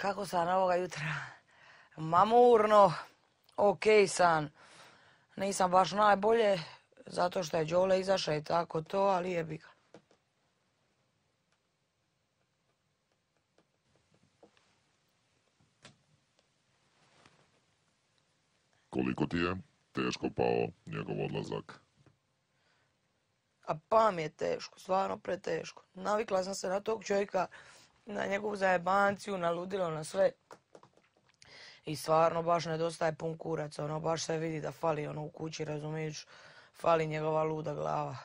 Kako san ovoga jutra? Mamurno, okej san. Nisam baš najbolje, zato što je Đole izašao i tako to, ali jebi ga. Koliko ti je teško pao njegov odlazak? A pa mi je teško, stvarno preteško. Navikla sam se na tog čovjeka, na njegovu zajebanciju, na ludilo, na sve. I stvarno baš nedostaje pun kurac, baš se vidi da fali u kući, razumiješ, fali njegova luda glava.